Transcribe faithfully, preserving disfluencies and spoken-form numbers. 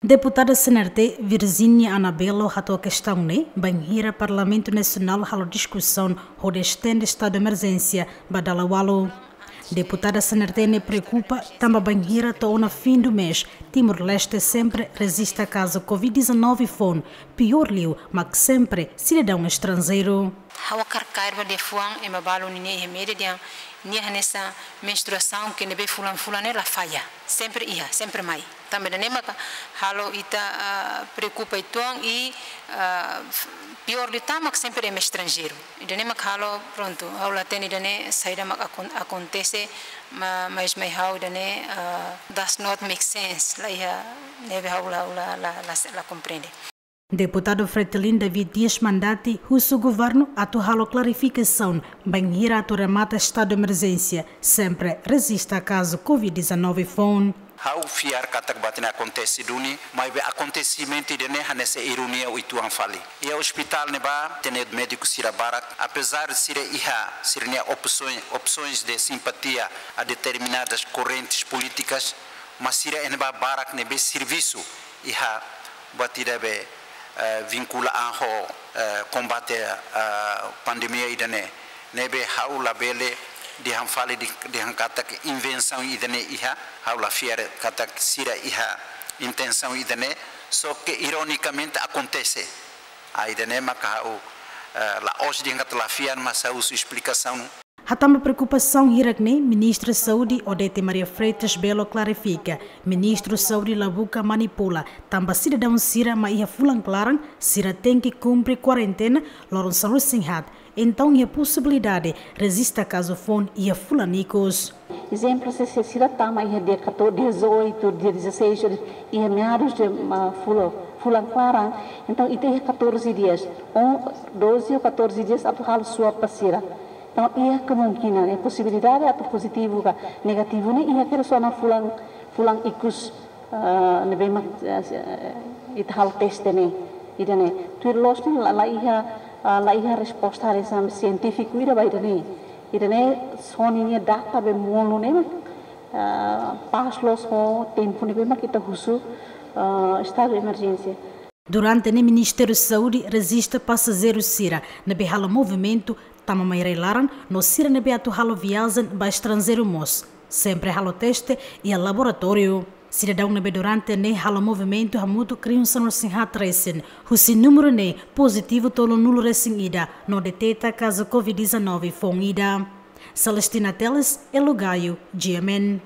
Deputada C N R T Virginia Anabelo hato'o kestaun ne'e bainhira Parlamentu Nasionál halo diskusaun hodi estende estadu emerjénsia ba dala ualu. Deputada C N R T ne'e preokupa tanba bainhira to'o ona fim do mês, Timor-Leste sempre rejista kazu covid dezanove foun, piór liu mak sempre sidadaun estranjeiru. Ha'u hakarak kaer ba liafuan ema balu ninia iha média dehan nia hanesan menstruasaun ke ne'ebé fulan-fulan ne'e la falla. Sempre iha, sempre mai. Tanba ida-ne'e maka halo ita, ah, preokupa uitoan i, ah, f-, piór liután mak sempre ema estranjeiru. Ida-ne'e mak halo, prontu, ha'u la hatene ida-ne'e saida mak akon-, akontese, ma-, mas mai ha'u ida-ne'e, ah, does not make sense. La iha, ne'ebé ha'u la, la, la, la, la komprende. Deputadu Fretilin David Dias Mandati husu governu atu halo klarifikasaun bainhira atu remata estadu emerjénsia, sempre rejista kazu covid dezanove foun. Ha'u fiar katak buat ne'e akontese duni, maibé akontesimentu ida-ne'e hanesan ironia uitoan fali. Iha ospitál ne'ebá, hatene médiku sira barak, apezar sira iha sira-nia opsoens, opsoens de simpatia a determinadas korrentes polítikas, mas sira iha ne'ebá barak ne'ebé servisu iha buat ida be, eh, vinkula an ho, eh, kombate, eh, pandemia ida-ne'e. Ne'ebé ha'u labele dehan fali de, dehan katak invensaun ida-ne'e iha, ha'u la fiar katak sira iha intensaun ida-ne'e, só ke ironikamente akontese. Ah, ida-ne'e maka ha'u, eh, la'ós dehan katak la fiar, mas ha'u husu esplikasaun. Hatán ba preokupasaun hirak-ne'e, Ministra Saúde Odete Maria Freitas Belo klarifika, Ministru Saúde la buka manipula, tanba sidadaun sira mak iha fulan klaran, sira tenke kumpre kuarentena loron sanulu-resin-haat, entaun iha posibilidade rejista kazu foun iha fulan ikus. Ezemplu, se, se sira tama iha dia catorze, dia dezoito, dia dezasseis, iha meados de, ah, fula-, fulan klaran, entaun ita iha catorze dias, ou doze ou catorze dias atu halo swab ba sira. Entaun, iha kemungkinan, iha posibilidade atu pozitivu ka negativu ne'e iha kedas ona fulan, fulan ikus, ah, ne'ebé mak, ah, ita halo teste ne'e, ida-ne'e. Tuir loos ne'e la, la iha, ah, la iha resposta hanesan sientífiku ida ba ida-ne'e. Ida-ne'e só ninia data be molok ne'e mak, ah, pas loos ho tempu ne'ebé mak ita husu, ah, estadu de emerjénsia. Durante ne'e Ministériu Saúde rejista pasajeiru sira ne'ebé halo movimentu tama mai rai-laran no sira ne'ebé atu halo viajen ba estranjeiru mós, sempre halo teste iha laboratóriu. Sidadaun ne'ebé durante ne'e halo movimentu hamutuk rihun sanulu-resin-haat resin, husi númeru ne'e pozitivu tolunulu-resin-ida no deteta kazu covid dezanove foun ida. Celestina Teles, Elo Gayo, G M N.